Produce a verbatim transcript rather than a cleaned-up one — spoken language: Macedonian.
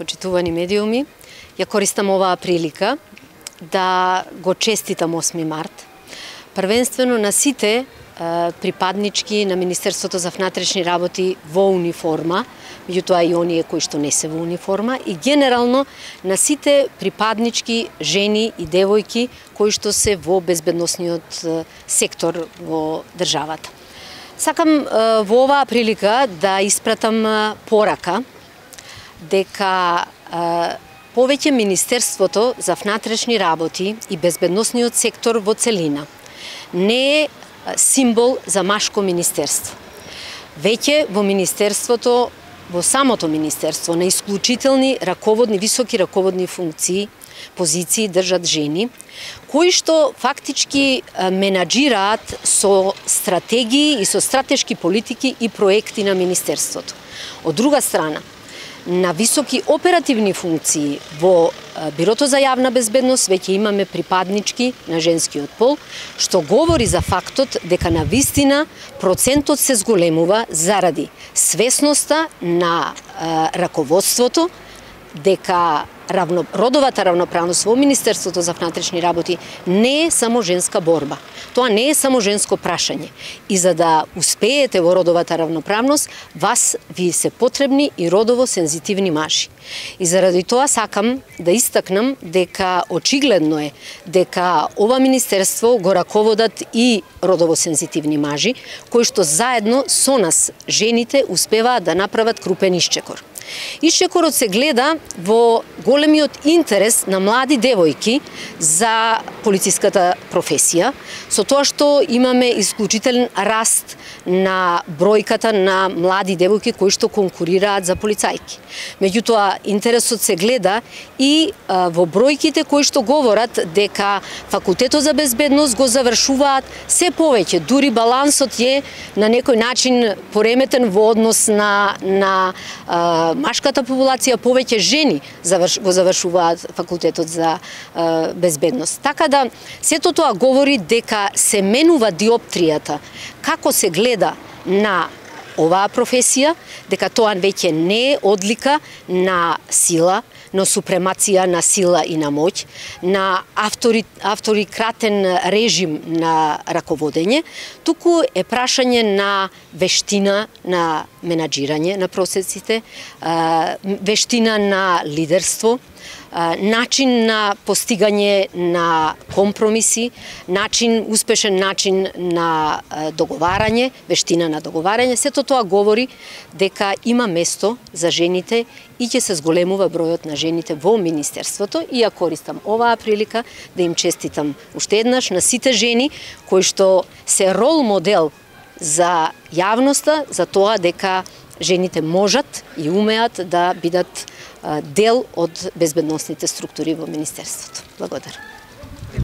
почитувани медиуми, ја користам оваа прилика да го честитам осми март, првенствено на сите припаднички на Министерството за внатрешни работи во униформа, меѓутоа и оние кои што не се во униформа, и генерално на сите припаднички жени и девојки кои што се во безбедносниот сектор во државата. Сакам во оваа прилика да испратам порака дека повеќе Министерството за внатрешни работи и безбедносниот сектор во целина не е символ за машко министерство. Веќе во министерството, во самото министерство, на исклучителни раководни, високи раководни функции, позиции држат жени, кои што фактички менаџираат со стратегии и со стратешки политики и проекти на министерството. Од друга страна, на високи оперативни функции во Бирото за јавна безбедност веќе имаме припаднички на женскиот пол, што говори за фактот дека на вистина процентот се зголемува заради свесноста на раководството дека равно, родовата равноправност во Министерството за внатрешни работи не е само женска борба. Тоа не е само женско прашање. И за да успеете во родовата равноправност, вас ви се потребни и родово сензитивни мажи. И заради тоа сакам да истакнам дека очигледно е дека ова министерство го раководат и родово сензитивни мажи, кои што заедно со нас, жените, успеваат да направат крупен исчекор. Исчекорот се гледа во големиот интерес на млади девојки за полициската професија, со тоа што имаме исклучителен раст на бројката на млади девојки кои што конкурираат за полицајки. Меѓутоа, интересот се гледа и а, во бројките кои што говорат дека факултетот за безбедност го завршуваат се повеќе, дури балансот е на некој начин пореметен во однос на, на а, машката популација, повеќе жени заврш, го завршуваат факултетот за а, безбедност. Така да, сето тоа говори дека се менува диоптријата, како се гледа на оваа професија, дека тоа веќе не е одлика на сила, но супремација на сила и на моќ, на автори, авторикратен режим на раководење, туку е прашање на вештина на менаџирање на процесите, вештина на лидерство, начин на постигање на компромиси, начин, успешен начин на договарање, вештина на договарање. Сето тоа говори дека има место за жените и ќе се зголемува бројот на жените во министерството, и ја користам оваа прилика да им честитам уште еднаш на сите жени кои што се рол модел за јавноста, за тоа дека жените можат и умеат да бидат дел од безбедносните структури во министерството. Благодарам.